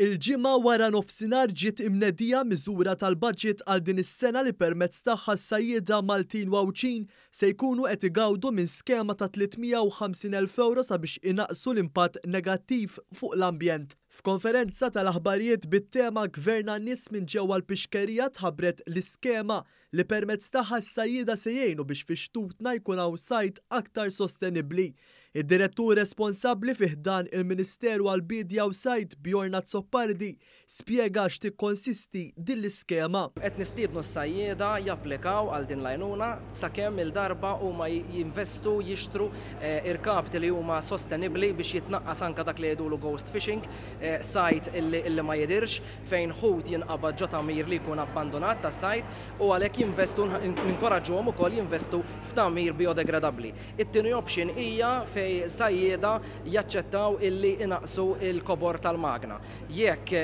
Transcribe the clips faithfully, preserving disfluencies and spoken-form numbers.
Il-Ġimgħa wara nofsinhar ġiet imnedija miżura tal-budget għal din is-sena li permezz tagħha s-sajjieda Maltin u Għawdxin se jkunu qed igawdu minn skema ta' tliet mija u ħamsin elf ewro sabiex inaqqsu l-impatt negattiv fuq l-ambjent. F'konferenza tal-aħbarijiet bit-tema Gvern għan-nies minn ġewwa l-Pixkerija tħabbret l-iskema li permezz tagħha s-sajjieda se jgħinu biex fi xtutna jkun hawn sajd aktar sostenibbli. Id-direttur responsabbli fi ħdan il-Ministeru għall-Bidja u Sajd, Bjorn Azzopardi, spjega x'tikkonsisti din l-iskema. Qed nistiednu s-sajjieda japplikaw għal din l-għajnuna sakemm il-darba huma jinvestu jixtru, eh, irkabti li huma sostenibbli biex jitnaqqas anka dak li jgħidulu ghost fishing, eh, sajd illi, illi ma jidirx, fejn ħut jinqabad ġo tagħmir li jkun abbandonat tas-sajd, u għalhekk jinvestu, ninkoraġġuhom ukoll jinvestu f'tagħmir biodegradabbli. It-tieni option hija fejn sajjieda jaċċettaw illi inaqsu il-kobor tal-magna. Jekk,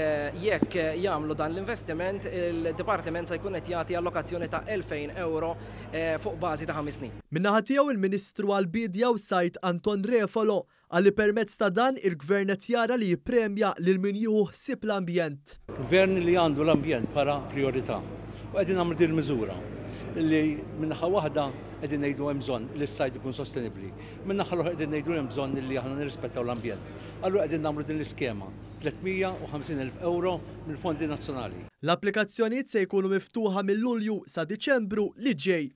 jekk jagħmlu dan l-investiment, il-dipartiment se jkun qed jagħti allokazzjoni ta' elfejn euro, eh, fuq bażi ta' ħames snin. Min-naħa tiegħu il-Ministru għall-Bidja u Sajd Anton Refalo qal li permezz ta' dan il-Gvern qed jara li jippremja lil min jieħu ħsieb l-ambjent. Gvern li għandu l-ambjent bħala priorità. U qegħdin nagħmlu din il-miżura li min-naħa waħda qegħdin ngħidu hemm bżonn li s-sajd ikun sostenibbli. Min-naħa l-oħra qegħdin ngħidu hemm bżonn li aħna nirrispettaw l-ambjent. Allura qegħdin nagħmlu din l-iskema tliet mija u ħamsin elf euro mill-fondi nazzjonali. L-applikazzjonijiet se jkunu miftuħa mill-Lulju sa Diċembru li ġej.